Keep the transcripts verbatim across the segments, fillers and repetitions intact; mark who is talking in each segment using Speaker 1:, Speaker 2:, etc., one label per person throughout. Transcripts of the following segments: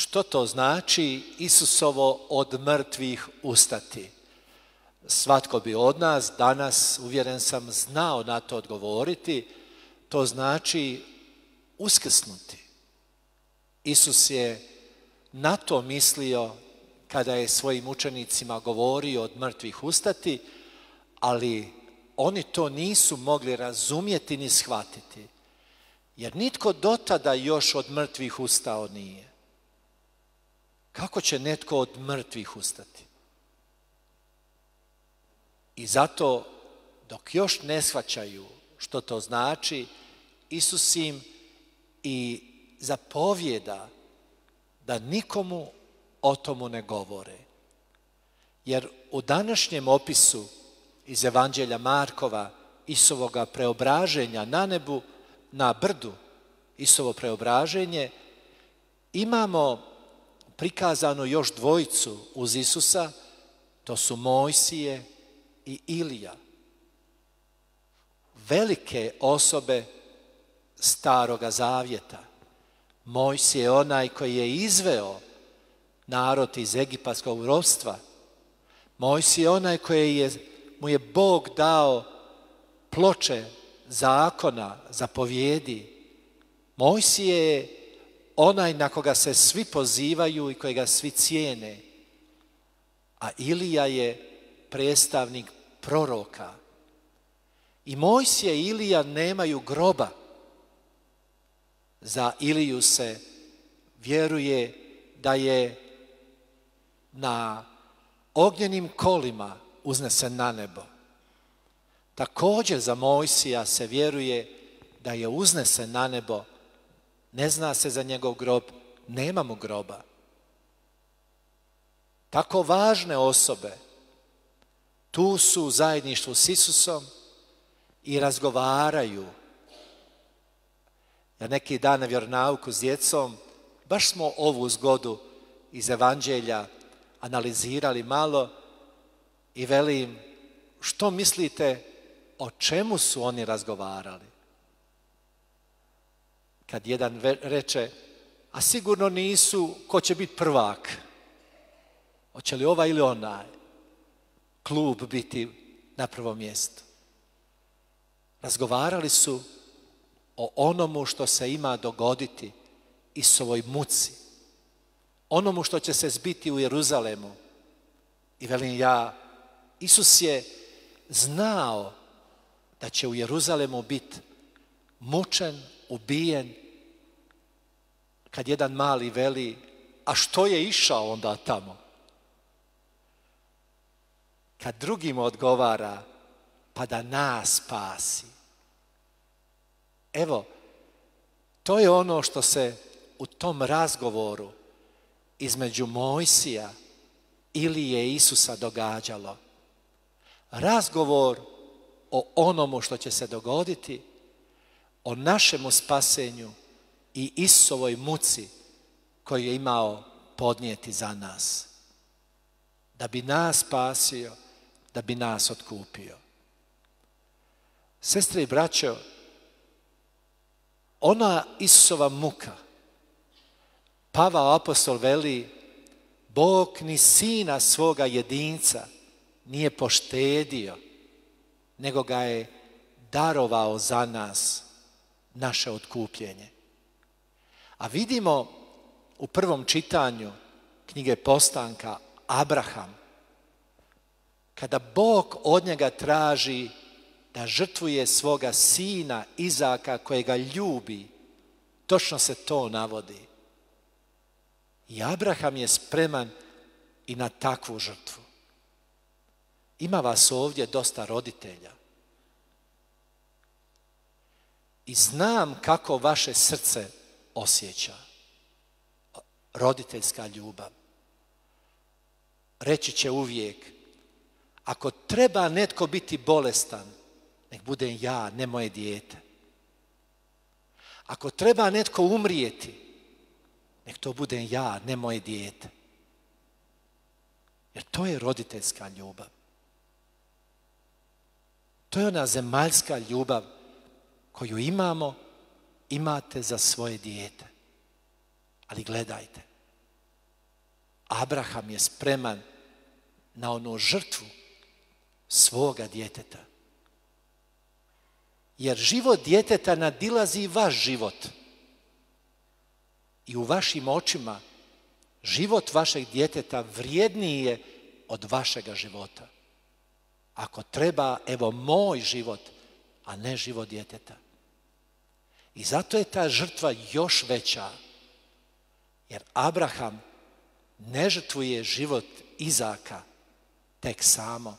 Speaker 1: Što to znači Isusovo od mrtvih ustati? Svatko bi od nas danas, uvjeren sam, znao na to odgovoriti. To znači uskrsnuti. Isus je na to mislio kada je svojim učenicima govorio od mrtvih ustati, ali oni to nisu mogli razumjeti ni shvatiti, jer nitko do tada još od mrtvih ustao nije. Kako će netko od mrtvih ustati? I zato, dok još ne shvaćaju što to znači, Isus im i zapovjeda da nikomu o tomu ne govore. Jer u današnjem opisu iz Evanđelja Markova, Isusovoga preobraženja na nebu, na brdu, Isusovo preobraženje, imamo prikazano još dvojicu uz Isusa, to su Mojsije i Ilija. Velike osobe Staroga Zavjeta. Mojsije je onaj koji je izveo narod iz egipatskog ropstva. Mojsije je onaj koji je, mu je Bog dao ploče zakona, zapovjedi. Mojsije je onaj na koga se svi pozivaju i kojega svi cijene. A Ilija je predstavnik proroka. I Mojsije i Ilija nemaju groba. Za Iliju se vjeruje da je na ognjenim kolima uznesen na nebo. Također za Mojsija se vjeruje da je uznesen na nebo. Ne zna se za njegov grob, nema mu groba. Tako važne osobe tu su u zajedništvu s Isusom i razgovaraju. Ja neki dan na vjeronauku s djecom, baš smo ovu zgodu iz Evanđelja analizirali malo i velim, što mislite o čemu su oni razgovarali? Kad jedan reče, a sigurno nisu ko će biti prvak. Hoće li ovaj ili onaj klub biti na prvom mjestu? Razgovarali su o onomu što se ima dogoditi Isusovoj muci, onomu što će se zbiti u Jeruzalemu. I velim ja, Isus je znao da će u Jeruzalemu biti mučen, ubijen. Kad jedan mali veli, a što je išao onda tamo? Kad drugim odgovara, pa da nas spasi. Evo, to je ono što se u tom razgovoru između Mojsija, Ilije i Isusa događalo. Razgovor o onomu što će se dogoditi, o našemu spasenju i Isusovoj muci koju je imao podnijeti za nas. Da bi nas spasio, da bi nas otkupio. Sestre i braćo, ona Isusova muka, Pavao apostol veli, Bog ni sina svoga jedinca nije poštedio, nego ga je darovao za nas, naše otkupljenje. A vidimo u prvom čitanju knjige Postanka Abraham, kada Bog od njega traži da žrtvuje svoga sina Izaka kojega ljubi, točno se to navodi. I Abraham je spreman i na takvu žrtvu. Ima vas ovdje dosta roditelja. I znam kako vaše srce osjeća. Roditeljska ljubav. Reći će uvijek, ako treba netko biti bolestan, nek budem ja, ne moje dijete. Ako treba netko umrijeti, nek to budem ja, ne moje dijete. Jer to je roditeljska ljubav. To je ona zemaljska ljubav koju imamo, imate za svoje dijete. Ali gledajte, Abraham je spreman na onu žrtvu svoga djeteta. Jer život djeteta nadilazi vaš život. I u vašim očima život vašeg djeteta vrijedniji je od vašega života. Ako treba, evo moj život, a ne život djeteta. I zato je ta žrtva još veća. Jer Abraham ne žrtvuje život Izaka tek samo,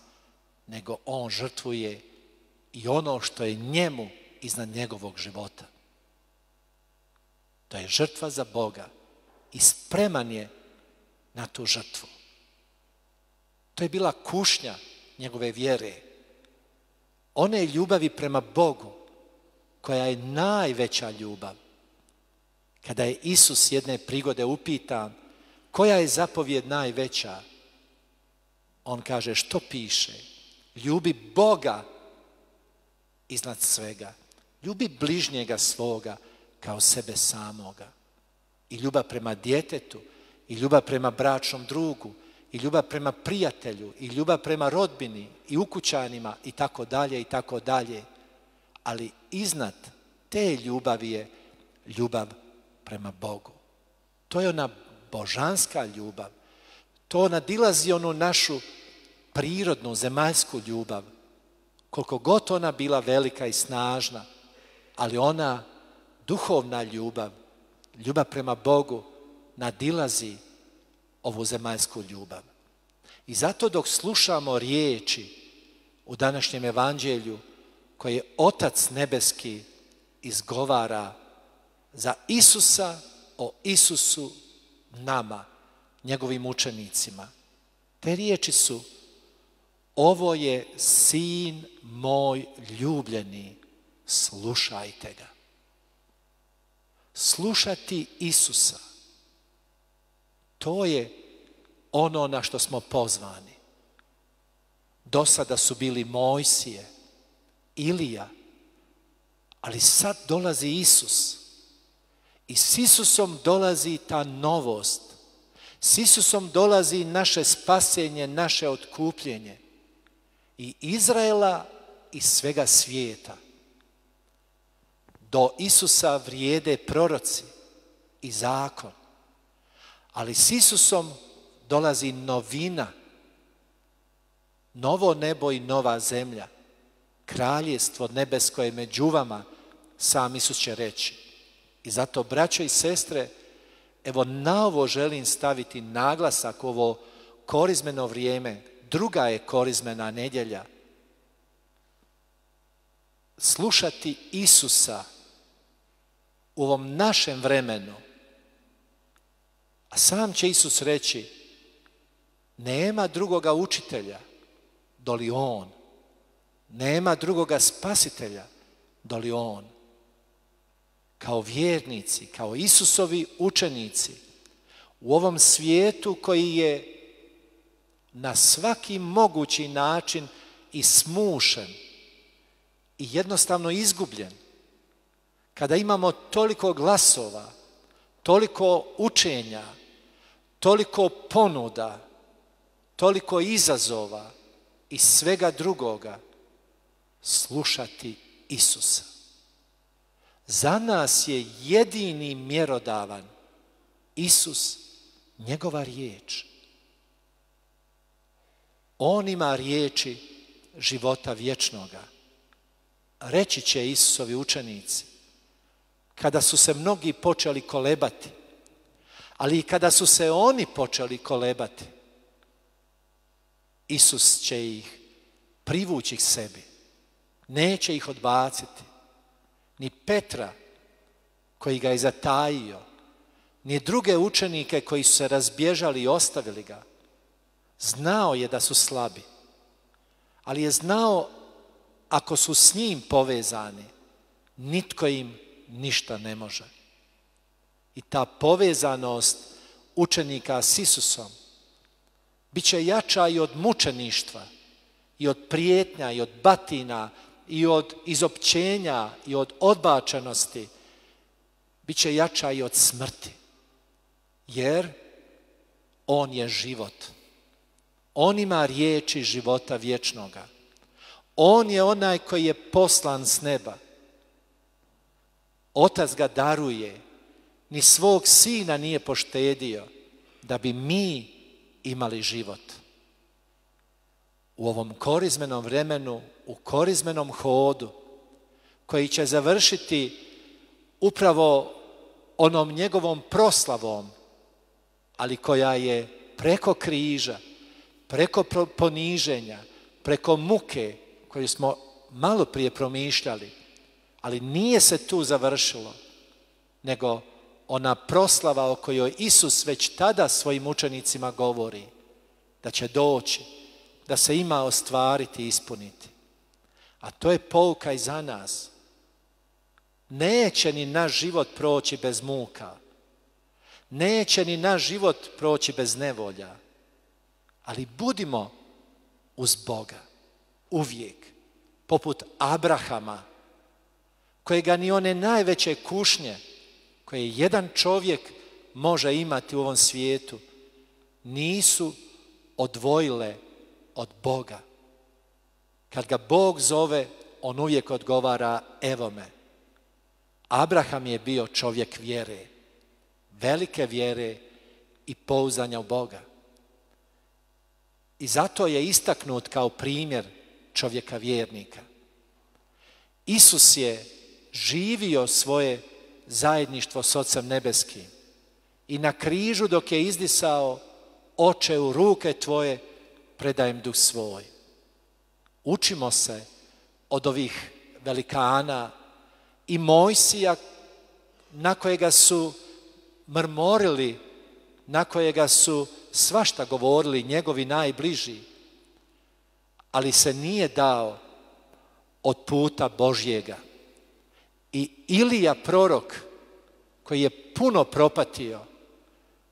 Speaker 1: nego on žrtvuje i ono što je njemu iznad njegovog života. To je žrtva za Boga i spreman je na tu žrtvu. To je bila kušnja njegove vjere. One ljubavi prema Bogu, koja je najveća ljubav. Kada je Isus jedne prigode upitan koja je zapovjed najveća, on kaže što piše? Ljubi Boga iznad svega. Ljubi bližnjega svoga kao sebe samoga. I ljubav prema djetetu, i ljubav prema bračnom drugu, i ljubav prema prijatelju, i ljubav prema rodbini, i ukućanima, i tako dalje, i tako dalje. Ali iznad te ljubavi je ljubav prema Bogu. To je ona božanska ljubav. To nadilazi onu našu prirodnu, zemaljsku ljubav. Koliko god ona bila velika i snažna, ali ona duhovna ljubav, ljubav prema Bogu, nadilazi ovu zemaljsku ljubav. I zato dok slušamo riječi u današnjem evanđelju koje Otac nebeski izgovara za Isusa, o Isusu nama, njegovim učenicima, te riječi su: ovo je sin moj ljubljeni, slušajte ga. Slušati Isusa, to je ono na što smo pozvani. Do sada su bili Mojsije, Ilija, ali sad dolazi Isus. I s Isusom dolazi ta novost. S Isusom dolazi naše spasenje, naše otkupljenje. I Izraela i svega svijeta. Do Isusa vrijede proroci i zakon. Ali s Isusom dolazi novina. Novo nebo i nova zemlja. Kraljestvo nebesko je među vama, sam Isus će reći. I zato, braćo i sestre, evo na ovo želim staviti naglasak, ovo korizmeno vrijeme, druga je korizmena nedjelja. Slušati Isusa u ovom našem vremenu, a sam će Isus reći: nema drugoga učitelja doli on, nema drugoga spasitelja doli on. Kao vjernici, kao Isusovi učenici, u ovom svijetu koji je na svaki mogući način i smušen i jednostavno izgubljen, kada imamo toliko glasova, toliko učenja, toliko ponuda, toliko izazova i svega drugoga, slušati Isusa. Za nas je jedini mjerodavan Isus, njegova riječ. On ima riječi života vječnoga. Reći će Isusovi učenici, kada su se mnogi počeli kolebati, ali i kada su se oni počeli kolebati, Isus će ih privući k sebi. Neće ih odbaciti. Ni Petra, koji ga je zatajio, ni druge učenike koji su se razbježali i ostavili ga. Znao je da su slabi, ali je znao ako su s njim povezani, nitko im ništa ne može. I ta povezanost učenika s Isusom bit će jača i od mučeništva, i od prijetnja, i od batina, i od izopćenja, i od odbačenosti. Bit će jača i od smrti. Jer On je život. On ima riječi života vječnoga. On je onaj koji je poslan s neba. Otac ga daruje, ni svog sina nije poštedio, da bi mi imali život. U ovom korizmenom vremenu, u korizmenom hodu, koji će završiti upravo onom njegovom proslavom, ali koja je preko križa, preko poniženja, preko muke koju smo malo prije promišljali, ali nije se tu završilo, nego ona proslava o kojoj Isus već tada svojim učenicima govori, da će doći, da se ima ostvariti i ispuniti. A to je pouka i za nas. Neće ni naš život proći bez muka. Neće ni naš život proći bez nevolja. Ali budimo uz Boga uvijek, poput Abrahama, kojega ni one najveće kušnje koje jedan čovjek može imati u ovom svijetu nisu odvojile od Boga. Kad ga Bog zove, on uvijek odgovara evo me. Abraham je bio čovjek vjere, velike vjere i pouzdanja u Boga. I zato je istaknut kao primjer čovjeka vjernika. Isus je živio svoje zajedništvo s Ocem nebeskim i na križu dok je izdisao, Oče, u ruke tvoje predajem duh svoj. Učimo se od ovih velikana i Mojsija na kojega su mrmorili, na kojega su svašta govorili njegovi najbliži, ali se nije dao od puta Božjega. I Ilija prorok, koji je puno propatio,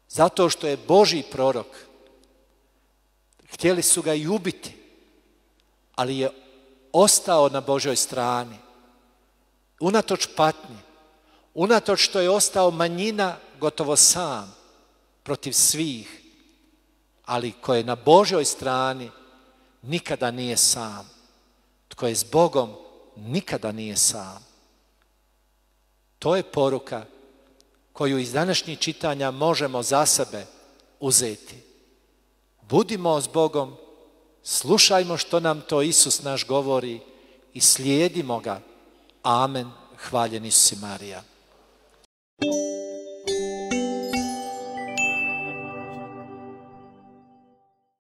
Speaker 1: zato što je Božji prorok, htjeli su ga i ubiti, ali je ostao na Božjoj strani. Unatoč patnji, unatoč što je ostao manjina gotovo sam protiv svih, ali ko je na Božjoj strani nikada nije sam. Tko je s Bogom nikada nije sam. To je poruka koju iz današnjih čitanja možemo za sebe uzeti. Budimo s Bogom, slušajmo što nam to Isus naš govori i slijedimo ga. Amen. Hvaljen Isus i Marija.